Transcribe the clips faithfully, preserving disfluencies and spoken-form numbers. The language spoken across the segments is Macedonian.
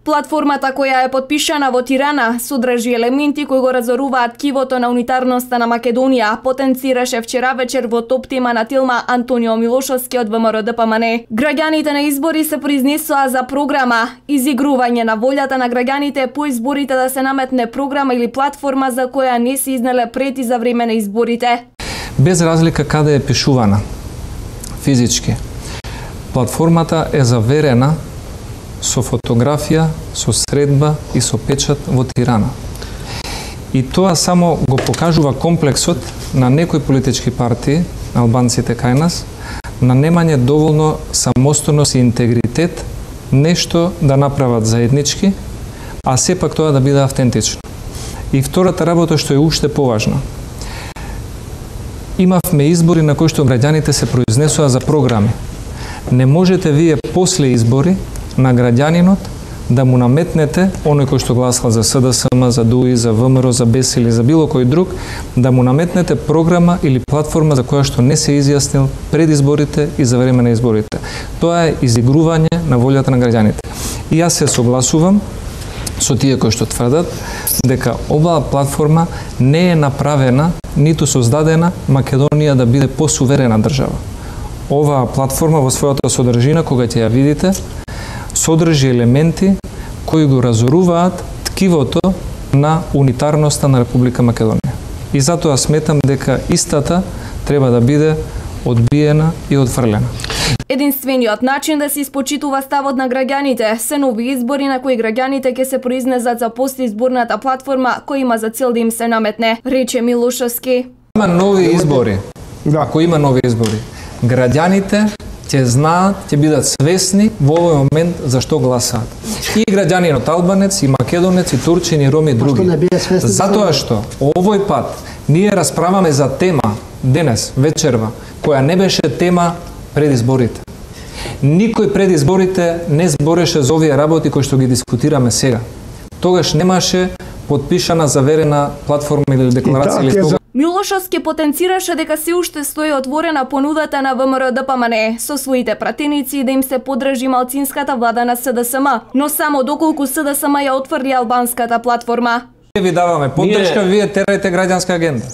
Платформата која е подпишана во Тирана содржи елементи кои го разоруваат ткивото на унитарноста на Македонија, потенцираше вчера вечер во топ тема на Тилма Антонио Милошовски од ВМРО-ДПМНЕ. Граѓаните на избори се произнесоа за програма, изигрување на волјата на граѓаните по изборите да се наметне програма или платформа за која не се изнеле пред и за време на изборите. Без разлика каде е пишувана, физички, платформата е заверена со фотографија, со средба и со печат во Тирана. И тоа само го покажува комплексот на некои политички партии, албанците кај нас, на немање доволно самостојност и интегритет, нешто да направат заеднички, а сепак тоа да биде автентично. И втората работа што е уште поважна. Имавме избори на кои што граѓаните се произнесоа за програми. Не можете вие после избори на граѓанинот да му наметнете, оној кој што гласал за СДСМ, за ДУИ, за ВМРО, за БЕС или за било кој друг, да му наметнете програма или платформа за која што не се изјаснил пред изборите и за време на изборите. Тоа е изигрување на волјата на граѓаните. И јас се согласувам со тие кои што тврдат дека оваа платформа не е направена, ниту создадена Македонија да биде посуверена држава. Оваа платформа во својата содржина, кога ќе ја видите, содржи елементи кои го разоруваат ткивото на унитарноста на Република Македонија. И затоа сметам дека истата треба да биде одбиена и отфрлена. Единствениот начин да се испочитува ставот на граѓаните се нови избори на кои граѓаните ќе се произнесат за постизборната платформа која има за цел да им се наметне, рече Милошовски. Има нови избори. Да. Ако има нови избори, граѓаните ќе знаат, ќе бидат свесни во овој момент за што гласаат. И граѓанинот албанец, и македонец, и турчин, и ром, и други. Затоа што овој пат ние расправаме за тема денес, вечерва, која не беше тема пред изборите. Никој пред изборите не збореше за овие работи кои што ги дискутираме сега. Тогаш немаше подпишана заверена платформа или декларација или слоган. Милошовски потенцираше дека се уште стои отворена понудата на ВМРО-ДПМНЕ со своите пратеници да им се подржи малцинската влада на СДСМ, но само доколку СДСМ ја отврди албанската платформа. Ние ви даваме поддршка, ние... вие терајте граѓанска агенда.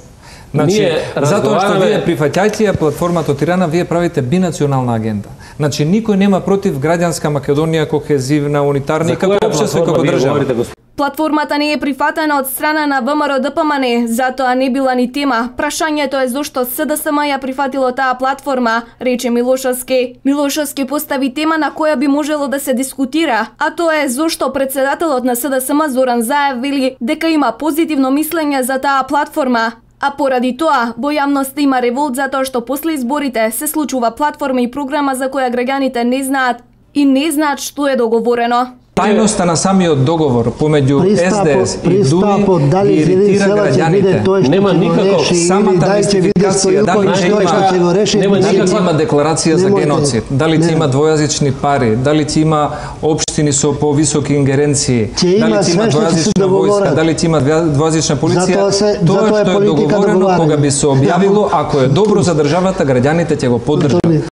Значи, затоа што вие прифаќајте ја платформата од Тирана, вие правите бинационална агенда. Значи, никој нема против граѓанска Македонија, кохезивна, унитарна и како општество и како држава. Платформата не е прифатена од страна на ВМРО-ДПМНЕ, затоа не била ни тема. Прашањето е зошто СДСМ ја прифатило таа платформа, рече Милошовски. Милошовски постави тема на која би можело да се дискутира, а тоа е зошто председателот на СДСМ Зоран Заев вели дека има позитивно мислење за таа платформа. А поради тоа, во јавноста има револт затоа што после изборите се случува платформа и програма за која граѓаните не знаат и не знаат што е договорено. Тајноста на самиот договор помеѓу СДС и ДУИ ги иритира граѓаните. Нема никаков самата мистификација, дали ќе има, нема никаква има декларација за геноцид, дали ќе има двојазични пари, дали ќе има општини со повисоки ингеренции, дали ќе има двојазична војска, дали ќе има двојазична полиција. Тоа што е договорено кога би се објавило, ако е добро за државата, граѓаните ќе го поддржат.